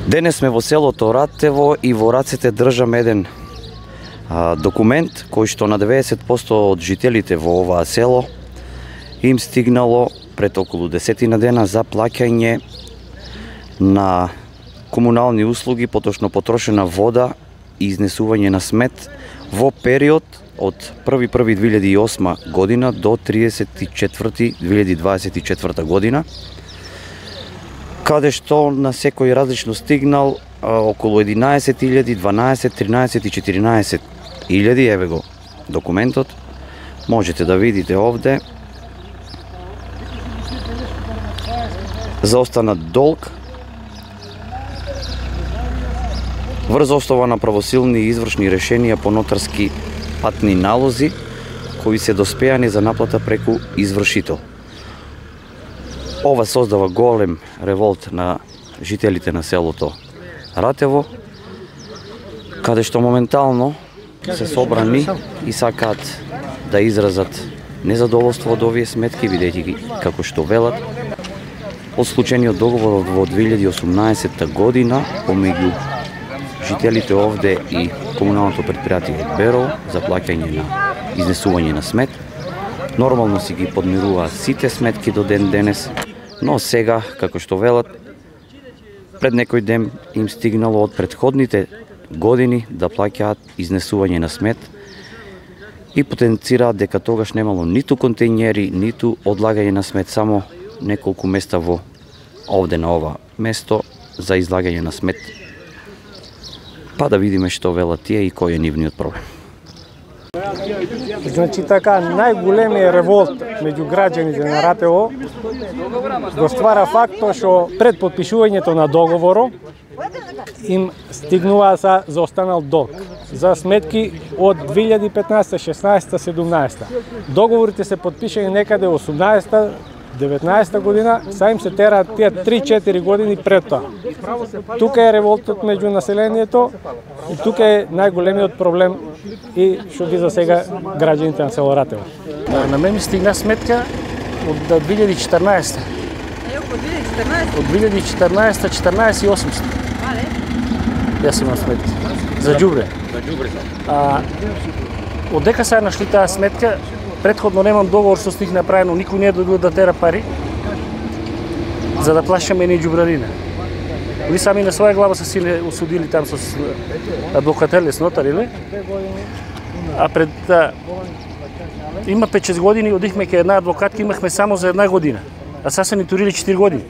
Денес сме во селото Ратево и во рацете држам еден документ кој што на 90% од жителите во оваа село им стигнало пред околу 10 дена за плаќање на комунални услуги, поточно потрошена вода и изнесување на смет во период од 1.1.2008 година до 30.4.2024 година, каде што на секој различно стигнал околу 11.000, 12, 13 и 14.000, еве го документот, можете да видите овде. Заостанат долг врз основа на правосилни и извршни решенија по нотарски патни налози кои се доспеани за наплата преку извршител. Ова создава голем револт на жителите на селото Ратево, каде што моментално се собрани и сакаат да изразат незадоволство од овие сметки, бидејќи ги, како што велат, од случениот договор во 2018 година помеѓу жителите овде и комуналното предпријатие Беро за плаќање на изнесување на смет. Нормално си ги подмируваат сите сметки до ден денес, но сега, како што велат, пред некој ден им стигнало од претходните години да плаќаат изнесување на смет и потенцираат дека тогаш немало ниту контејнери, ниту одлагање на смет, само неколку места во овде на ова место за излагање на смет. Па да видиме што велат тие и кој е нивниот проблем. Значи така, најголемиот револт меѓу граѓаните на Ратево го ствара фактот што пред потпишувањето на договорот им стигнува за останал долг за сметки од 2015, 16, 17. Договорите се потпишани некаде 18, 19 година, са им се тераат тие 3-4 години пред тоа. Тука е револтот меѓу населението и тука е најголемиот проблем и што ги засега граѓаните на село Ратево. На мен ми стигна сметка од 2014. Од 2014, 14.800. Јас имам сметки. За џубре. Од дека се нашли таа сметка, предходно немам договор со них направено, никој не е дојдол да тера пари за да плащаме ни џубрарина. Или сами на своја глава се силе осудили там со адвокателе, с нотари, а пред има 5-6 години одихме кај една адвокатка, имахме само за една година, а сега се ни турили 4 години.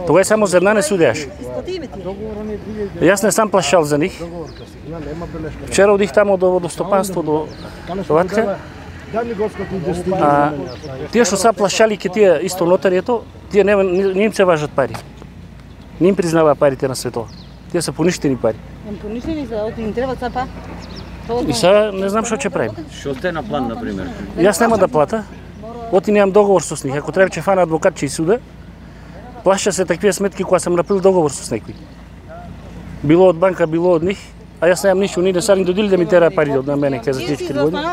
Тогаш само за една не судеаше. Јас не сам плашал за нив. Вчера одих тамо до водостопанство, до Ватка. Тие што са плашали ке тие исто нотарието, тие не им се важат пари. Не им признава парите на светот. Тие се поништени пари. Поништени се, им треба цапа. И сега не знам што ќе правим. Што сте на план, например? Јас нема да плата. Оти немам договор со них. Ако треба ќе фана адвокат ќе и суда. Плаша се таквија сметки кога сам направил договор со некој. Било од банка, било од нив. А јас немам ништо, ние не са ни додили да ми тера пари од на мене кај за 4 години.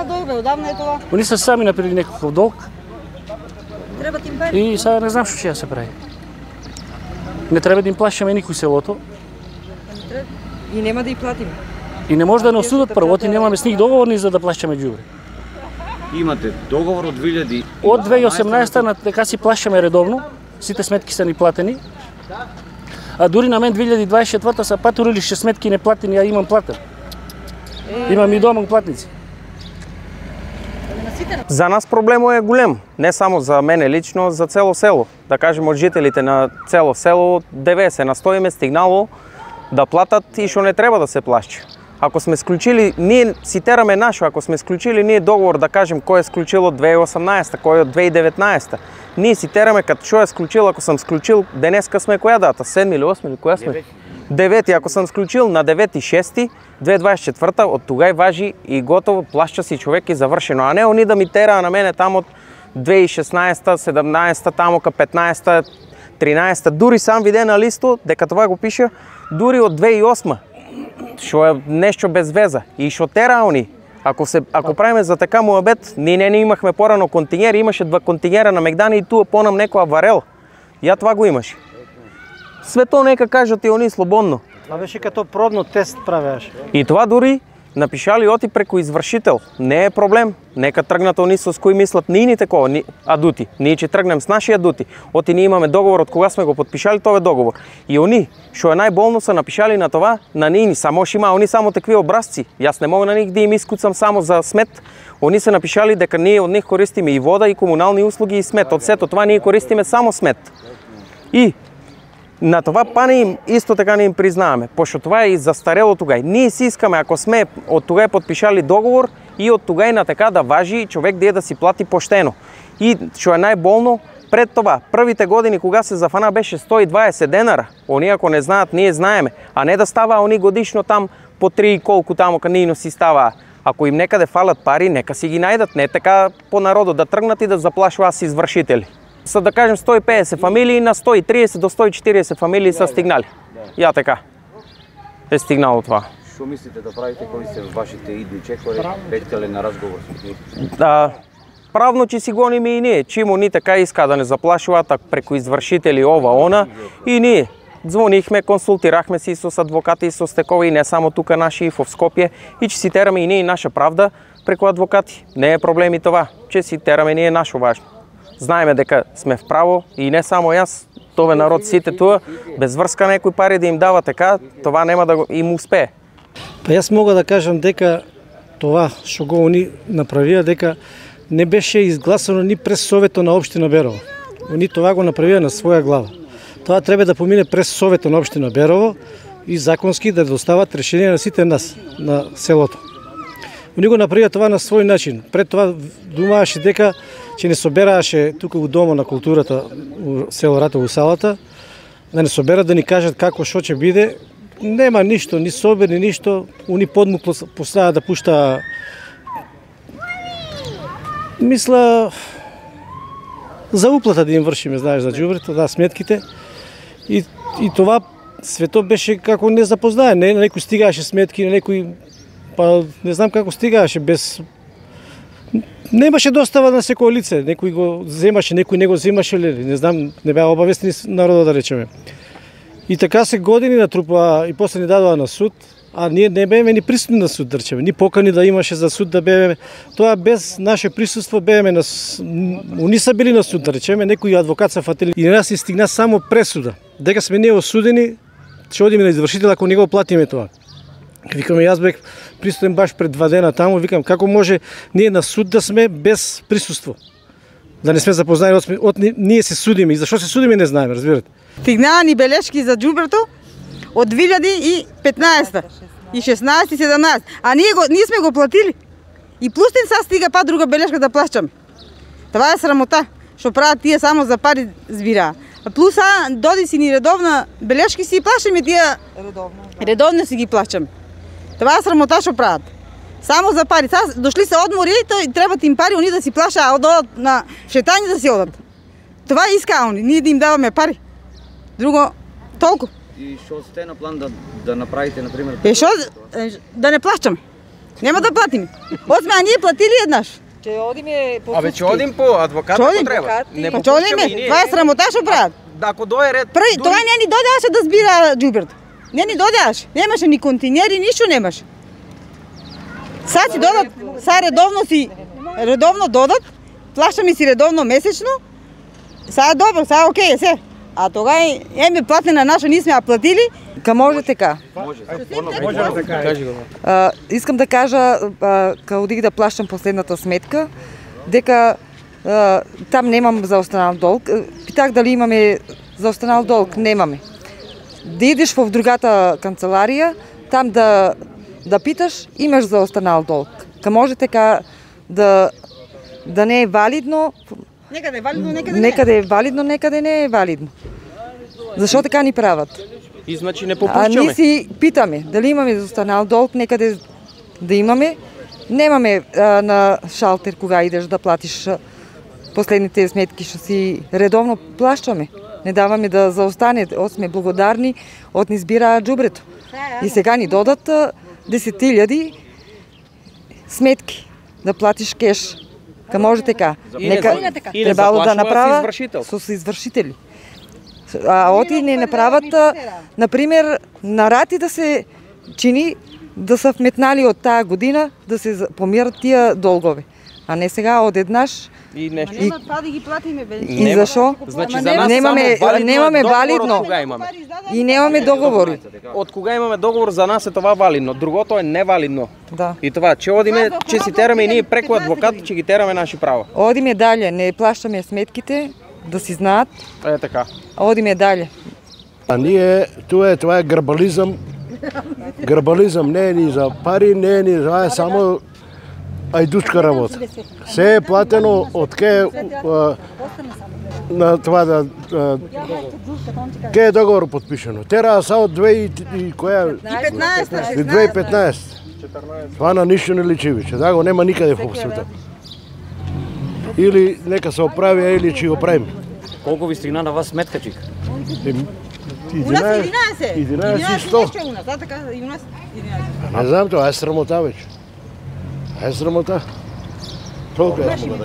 Они се сами направили некаков долг. Треба ти им пари. И сега не знам што ќе се прави. Не треба да им плашаме никој селото. И нема да ја платиме. И не може да не осудат прво, и немаме с нив договорни за да плащаме џубре. Имате договор од 2000... Од 2018 на дека си плащаме редовно, сите сметки се ни платени. А дури на мен 2024 са патурили 6 сметки неплатени, а имам платен. Имам и дома платници. За нас проблемот е голем, не само за мене лично, за цело село. Да кажем, од жителите на цело село 90 на 100 им е стигнало да платат и што не треба да се плаща. Ако сме склучили, ние си тераме нашо, ако сме склучили ние договор, да кажем, кој е склучил од 2018, кој од 2019, ние си тераме като што е склучил, ако съм склучил, денеска сме која дата, 7 или 8 или која сме? 9, ако съм склучил на 9.6.2024, од тогај важи и готово, плаща си човек и завршено, а не они да ми тераа на мене там од 2016, 17, тамо ка 15, 13, дури сам виде на листо, дека това го пише, дури од 2008, што е нешто без веза и што тера они. Ако правиме за така муабет, ние не имахме порано контингери, имаше 2 контингера на Мегдани и туа понам некоја варел. Ја това го имаше. све тоа нека кажат и они слободно. Това беше като пробно тест правеше. И това дури напишали оти преку извршител. Не е проблем. Нека тргнат они со кои мислат ние ни такова, адути. Ние ќе тргнем с наши адути. Оти ние имаме договор од кога сме го подпишали тој договор. И они, што е најболно, са напишали на това, на ние, само што има они само такви образци. Јас не мога на них да им искуцам само за смет. Они се напишали дека ние од них користиме и вода, и комунални услуги, и смет. Од сето това ние користиме само смет. И на това па им исто така не им признаваме, пошто това е и застарело тугај. Ние си искаме, ако сме од тугај подпишали договор, и од тугај на така да важи човек да си плати поштено. И што е најболно, пред това, првите години кога се зафана беше 120 денара. Они ако не знаат, ние знаеме, а не да става они годишно там по 3 и колку тамо канино си става. Ако им некаде фалат пари, нека си ги најдат, не така по народот да тргнат и да заплашуваат с извршители. Са да кажем 150 фамилии на 130 до 140 фамилии са стигнали. Ја така е стигнало това. Што мислите да правите кои се вашите идни чекори, бетеле на разговор со нив? Правно ќе си гониме и ние, чимо ни така иска да не заплашуваат преку извршители ова она, и ние звонихме, консултирахме си со адвокати и со стекови, и не само тука наши и во Скопје, и ќе си тераме и ние наша правда преку адвокати. Не е проблем и това, ќе си тераме ние нашо важно. Знаеме дека сме вправо и не само јас, тоа народ сите тоа, без врска некои пари да им дава така, това нема да им успее. Па јас мога да кажам дека това што го они направија, дека не беше изгласано ни през Советот на општина Берово. Они това го направија на своја глава. Тоа треба да помине през Советот на општина Берово и законски да достават решение на сите нас, на селото. Они го направија това на свој начин. Пред това думаваше дека ќе не соберааше тука у Дома на културата у село Ратево, у салата, да не соберат да ни кажат како што ќе биде. Нема ништо, ни собер, ни ништо. Они подмук поставаа да пушта, мисла, за уплата да им вршиме, знаеш, за џубрето, да, сметките. И това свето беше како не запознае. На некој стигааше сметки, на некој, па не знам како стигааше, без... Немаше достава на секој лице, некој го земаше, некој не го земаше, не знам, не беа обавестени народот, да речеме. И така се години натрупаа и после ни дадоа на суд, а ние не беме ни присутни на суд, да речеме, ни покани да имаше за суд да беме. Тоа без наше присуство беме на... Уни са били на суд, да речеме, некои адвокат са фатили и на нас ни стигна само пресуда. Дека сме ние осудени, ќе одиме на извршител ако не го платиме тоа. Викаме, јас бех присутен баш пред 2 дена таму, викам, како може ние на суд да сме без присуство? Да не сме запознаени, ние се судиме и зашо се судиме не знаеме, разбирате. Стигнаа ни белешки за џубрето од 2015 и 16 и 17, а ние сме го платили. И плюс тим са стига па друга белешка да плащаме. Това е срамота, што прават тие само за пари збираа. Плюс доди си ни редовна белешки си плащаме тие редовно си ги плащаме. Това е срамота што прават. Само за пари. Дошли се одмори и требат им пари, они да си плашат, а одат на шетање да си одат. Това иска они, ние да им даваме пари. Друго, толку. И што сте на план да направите, например? Што? Да не плащаме. Нема да платиме. Осме, а ние платили еднаш. Ќе одиме по... Абе, ќе одим по адвокат, ако треба. Не попушчаме и ние. Това е срамота што прават. Ако дое ред... Тоа не ни додеаше да збира џубрето. Не ни додеаше. Немаше ни континери, ништо немаше. Сад си додат, редовно додат, плащаме си редовно месечно, сега е добро, сега е окей, се. А тогава еме платне на наша, ние сме ја платили. Ка може така? Може така. Кажи го. Искам да кажа, кога одих да плащам последната сметка, дека там немам за останал долг. Питах дали имаме за останал долг, немаме. Да идеш в другата канцеларија, там да питаш, имаш за останал долг. Ка може така да не е валидно. Некаде е валидно, некаде не. Некаде е валидно, некаде не е валидно. Зашо така ни прават? И значи не попушчаме. А ние си питаме дали имаме за останал долг, некаде да имаме. Немаме на шалтер кога идеш да платиш последните сметки, што си редовно плащаме. Не даваме да заостане, сме благодарни, од ни збираат џубрето. И сега ни додат 10.000 сметки да платиш кеш. Ка може така. Нека требало да направа со извршители. А оти не направат, например, на рати да се чини да се вметнали од таа година да се помират тие долгови. А не сега одеднаш. И нешто. Нема па да ги платиме бе. И зашо? Значи за нас немаме валидно. Од кога имаме? И немаме договори. Од кога имаме договор за нас е това валидно, другото е невалидно. Да. И това, че одиме, че си тераме и ние преку адвокат, че ги тераме наши права. Одиме дале, не плащаме сметките, да си знаат. Е така. Одиме дале. А ние, това е грабализам. Грабализам не е ни за пари, не е ни за само ајдучка работа. Се е платено од ке на това да ке е договор подпишено. Тера са од 2015. Това на ништо не личи веќе. Да го нема никаде во светот. Или нека се оправи, или ќе го правиме. Колку ви стигна на вас сметка, чик? У нас 11. 11,100. У нас, да така, и у нас 11. Не знам тоа, е срамота веќе. Е срамота. Толку е срамота.